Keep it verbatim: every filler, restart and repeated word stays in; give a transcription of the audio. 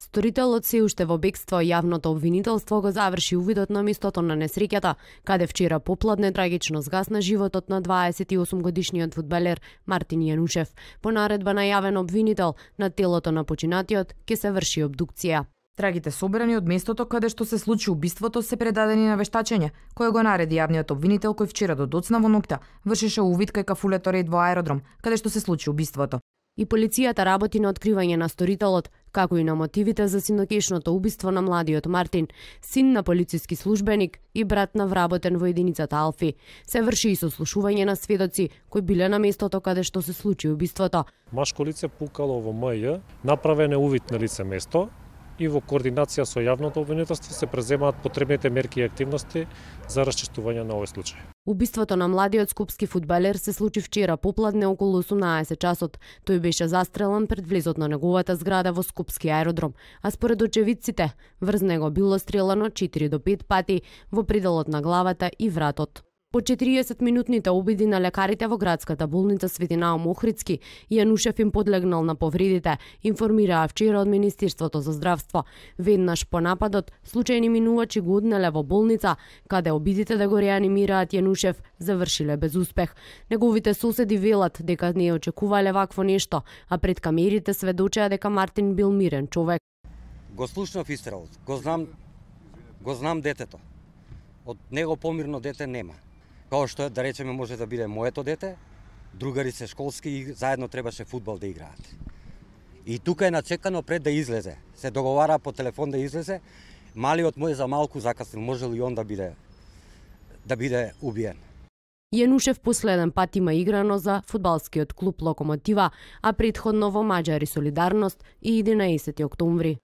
Сторителот се уште во бегство, јавното обвинителство го заврши увидот на местото на несреќата, каде вчера попладне трагично згасна животот на дваесет и осум годишниот фудбалер Мартин Јанушев. По наредба на јавен обвинител, на телото на починатиот ќе се врши обдукција. Трагите собрани од местото каде што се случи убиството се предадени на вештачење, кое го нареди јавниот обвинител кој вчера до доцна во ноќта вршеше увид кај кафулето ред во аеродром, каде што се случи убиството. И полицијата работи на откривање на сторителот, како и на мотивите за синокешното убиство на младиот Мартин, син на полициски службеник и брат на вработен во единицата Алфи. Се врши и сослушување на сведоци кои биле на местото каде што се случи убиството. Машко лице пукало во М Ј, направен е увид на лице место и во координација со јавното обвинителство се преземаат потребните мерки и активности за расчистување на овој случај. Убиството на младиот скопски фудбалер се случи вчера попладне околу осумнаесет часот. Тој беше застрелан пред влезот на неговата зграда во скопски аеродром, а според очевидците, врз него било стрелано четири до пет пати во пределот на главата и вратот. По четириесет минутните обиди на лекарите во градската болница Свети Наум Охридски, Јанушев им подлегнал на повредите, информираа вчера од Министерството за здравство. Веднаш по нападот, случајни минувачи го однеле во болница, каде обидите да го реанимираат Јанушев завршиле без успех. Неговите соседи велат дека не очекувале вакво нешто, а пред камерите сведочеа дека Мартин бил мирен човек. Го слушнав истрелот, го знам, го знам детето. Од него помирно дете нема. Као што да речеме може да биде моето дете, другари се школски и заедно требаше фудбал да играат. И тука е начекано пред да излезе. Се договара по телефон да излезе. Малиот мој за малку закаснил, може ли он да биде да биде убиен. Јанушев последен пат има играно за фудбалскиот клуб Локомотива, а претходно во Маџари Солидарност и единаесети октомври.